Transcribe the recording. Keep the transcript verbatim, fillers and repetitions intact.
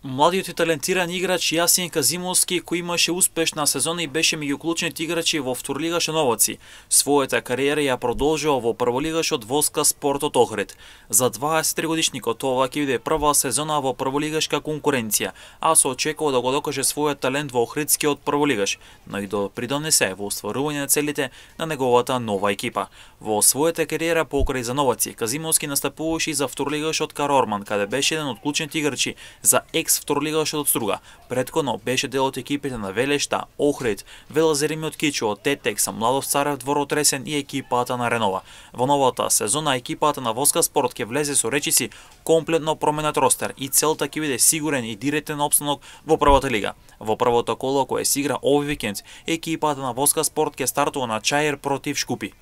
Младиот и талентиран играч Јасин Казимовски, кој имаше успешна сезона и беше меѓу клучните играчи во второлигаш Новоци, својата кариера ја продолжува во прволигашот Воска Спортот Охрид. За дваесеттригодишникот ова ќе биде прва сезона во прволигашка конкуренција, а се очекува да го докаже својот талент во охридскиот прволигаш, но и да придонесе во остварување на целите на неговата нова екипа. Во својата кариера покрај за Новоци, Казимовски настапуваше и за второлигашот Карорман, каде беше еден од клучните играчи за екс второлигашот од Струга. Претходно беше дел од екипите на Велешта, Охрид, Велозеримиот Кичо, Тетекс, Младост Царев, Дворот Ресен и екипата на Ренова. Во новата сезона екипата на Воска Спорт ќе влезе со речиси комплетно променет ростер и целта ќе биде сигурен и директен опстанок во првата лига. Во првото коло кое се игра овој викенд, екипата на Воска Спорт ќе стартува на Чаир против Шкупи.